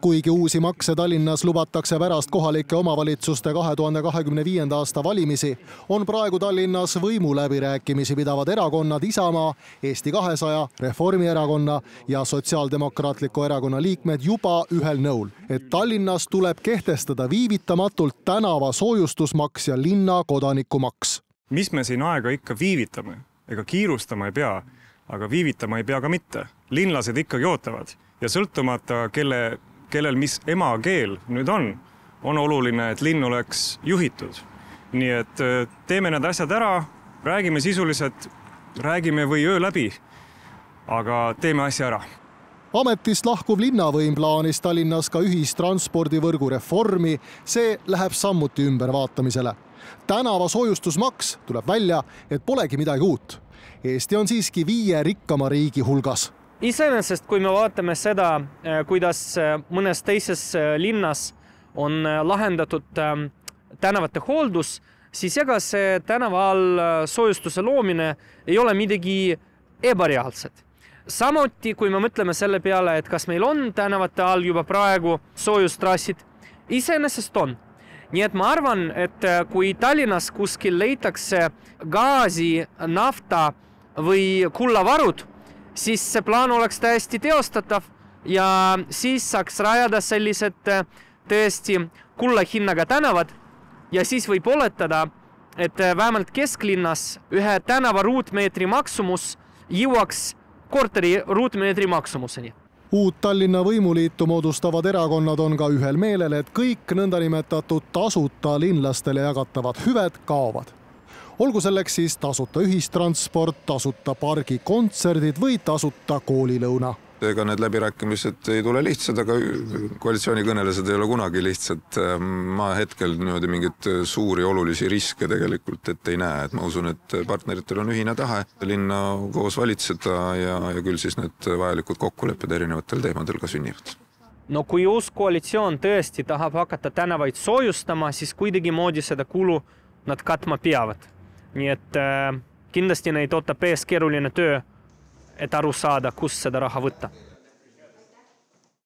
Kuigi uusi makse Tallinnas lubatakse pärast kohalike omavalitsuste 2025. aasta valimisi, on praegu Tallinnas võimuläbirääkimisi pidavad erakonnad Isamaa, Eesti 200, Reformierakonna ja Sotsiaaldemokraatliku erakonna liikmed juba ühel nõul, et Tallinnas tuleb kehtestada viivitamatult tänava soojustusmaks ja linna kodanikumaks. Mis me siin aega ikka viivitame? Ega kiirustama ei pea, aga viivitama ei pea ka mitte. Linlased ikkagi ootavad ja sõltumata kellel mis emakeel nüüd on oluline, et linn oleks juhitud. Nii et teeme need asjad ära, räägime sisuliselt, räägime või öö läbi, aga teeme asja ära. Ametist lahkuv linnavõim plaanis Tallinnas ka ühistranspordivõrgu reformi, see läheb sammuti ümbervaatamisele. Tänava soojustusmaks tuleb välja, et polegi midagi uut. Eesti on siiski 5 rikkama riigi hulgas. Iseenesest, kui me vaatame seda, kuidas mõnes teises linnas on lahendatud tänavate hooldus, siis ega see tänava all soojustuse loomine ei ole midagi ebareaalset. Samuti, kui me mõtleme selle peale, et kas meil on tänavate all juba praegu soojustrassid, iseenesest on. Nii et ma arvan, et kui Tallinnas kuskil leitakse gaasi, nafta või kullavarud, siis see plaan oleks täiesti teostatav ja siis saaks rajada sellised tõesti kulla hinnaga tänavad ja siis võib oletada, et vähemalt kesklinnas ühe tänava ruutmeetri maksumus jõuaks korteri ruutmeetri maksumuseni. Uut Tallinna võimuliitu moodustavad erakonnad on ka ühel meelel, et kõik nõndanimetatud tasuta linlastele jagatavad hüved kaovad. Olgu selleks siis tasuta ühistransport, tasuta pargikontserdid või tasuta koolilõuna. Ega need läbirääkimised ei tule lihtsad, aga koalitsioonikõnelused ei ole kunagi lihtsad. Ma hetkel niimoodi mingit suuri olulisi riske tegelikult ei näe. Et ma usun, et partneritel on ühine tahe linna koos valitseda ja küll siis need vajalikud kokkulepped erinevatel teemadel ka sünnivad. No kui uus koalitsioon tõesti tahab hakata tänavaid soojustama, siis kuidagi moodi seda kulu nad katma peavad. Nii et kindlasti neid ootab ees keeruline töö, et aru saada, kus seda raha võtta.